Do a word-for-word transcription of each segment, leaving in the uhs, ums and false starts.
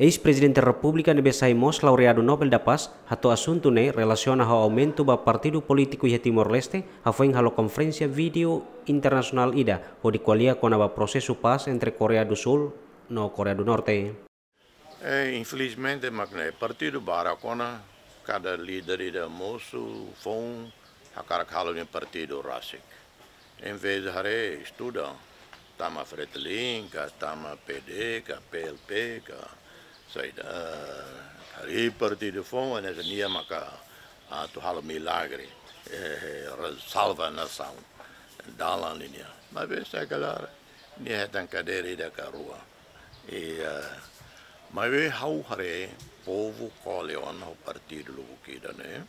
Eis-Prezidente Repúblika ne'ebé sai mós laureadu Nobel da Paz hato'o asuntu ne'e relasiona ho aumentu ba partidu polítiku iha Timor-Leste, hafoin halo konferénsia vídeo internasionál ida hodi ko'alia kona-ba prosesu pás entre Koreia do Sul no Koreia do Norte. Eh, infelizmente, mak ne'e partidu barak ona, kada líder ida mosu foun hakarak halo nia partidu rasik. Em vez de haree estuda, tama Fretilin, ka tama P D, ka P L P, ka saida, eh, harii partidu foun, hanesan nia maka atu halo milagre, eh, re-, salva nasaun, dalan ninia. Maibé se kalar, nia hetan kadeira ida ka rua. I, eh, maibé ha'u haree povu kole ona ho partidu lubuk ida ne'e.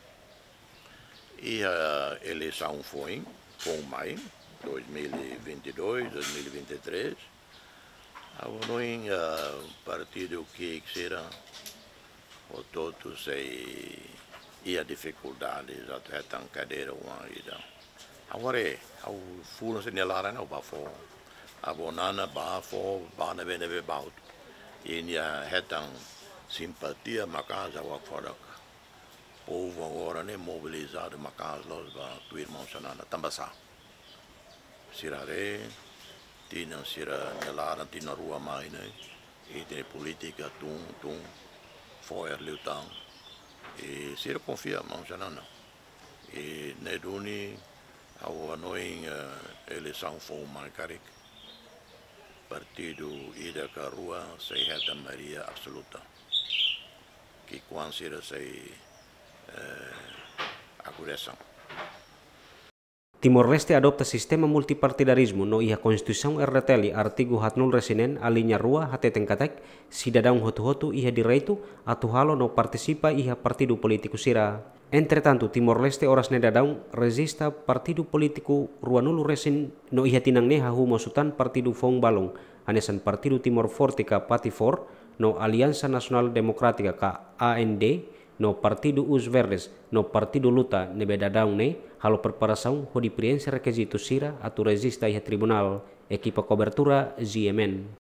Iha eleisaun foin, foun mai, dois mil e vinte e dois, dois mil e vinte e três. Ha'u hanoin, eh, partidu ki'ik sira, hotu-hotu sei iha difikuldade atu hetan kadeira oan ida. Ha'u haree, ha'u fulan sira-nia laran ha'u bá fó. Avó Nana bá fó, bá ne'ebé-ne'ebé bá hotu. I nia hetan simpatia maka'as, ha'u hakfodak. Povu agora ne'e mobilizadu maka'as loos ba tuir maun Xanana. Tanba sá? Sira haree, tinan sira-nia laran, tinan rua mai ne'e, i tinan polítika tun, tun, fo'er liután. I sira konfia maun Xanana. I ne'e duni ha'u hanoin, eh, eleisaun foun mai karik, partidu ida ka rua sei hetan maioria absoluta. Ki'ikoan sira sei, eh, akuresa. Timor-Leste adopta sistema multipartidarizmu no iha Konstituisaun R D T L artigu haatnulu-resin-neen aliña rua hateten katak sidadaun hotu-hotu iha direitu atu halo no partisipa iha partidu polítiku sira. Entretantu, Timor-Leste oras ne'e daudaun rejista partidu polítiku ruanulu-resin no iha tinan ne'e hahú mós tan partidu foun balun, hanesan Partidu Timor Forte ka PATIFOR, no Aliansa Nasionál Demokrátika ka A N D, no Partidu Os Verdes, no Partidu Luta ne'ebé daudaun ne'e halo preparasaun hodi prienxe rekizitu sira atu rejista iha tribunál. Ekipa kobertura G M N.